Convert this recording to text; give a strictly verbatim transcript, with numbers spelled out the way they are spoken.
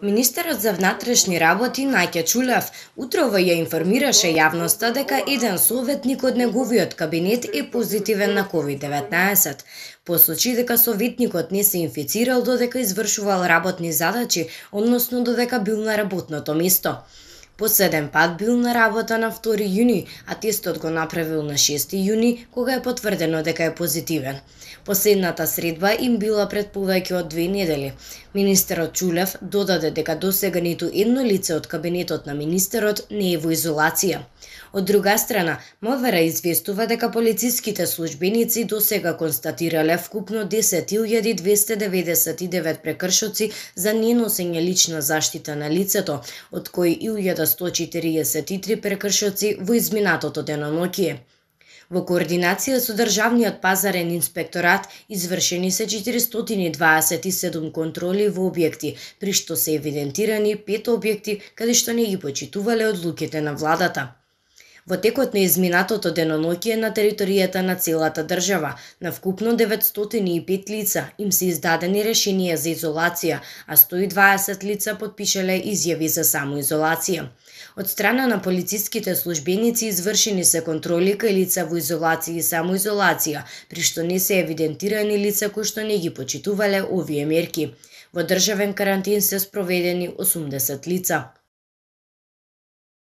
Министерот за внатрешни работи Наќа Чулев утрово ја информираше јавноста дека еден советник од неговиот кабинет е позитивен на ковид деветнаесет. Посочи дека советникот не се инфицирал додека извршувал работни задачи, односно додека бил на работното место. Последен пат бил на работа на втори јуни, а тестот го направил на шести јуни, кога е потврдено дека е позитивен. Последната средба им била пред повеќе од две недели. Министерот Чулев додаде дека досега ниту едно лице од кабинетот на министерот не е во изолација. Од друга страна, МВР известува дека полициските службеници досега констатирале вкупно десет илјади двесте деветдесет и девет прекршоци за неносење лична заштита на лицето, од кои илјада сто четириесет и три прекршоци во изминатото деноноќие. Во координација со Државниот пазарен инспекторат извршени се четиристотини дваесет и седум контроли во објекти, при што се евидентирани пет објекти каде што не ги почитувале одлуките на владата. Во текот на изминатото деноноќие на територијата на целата држава, на вкупно деветстотини и пет лица им се издадени решенија за изолација, а сто и дваесет лица потпишале изјави за самоизолација. Од страна на полициските службеници извршени се контроли кај лица во изолација и самоизолација, при што не се евидентирани лица кои што не ги почитувале овие мерки. Во државен карантин се спроведени осумдесет лица.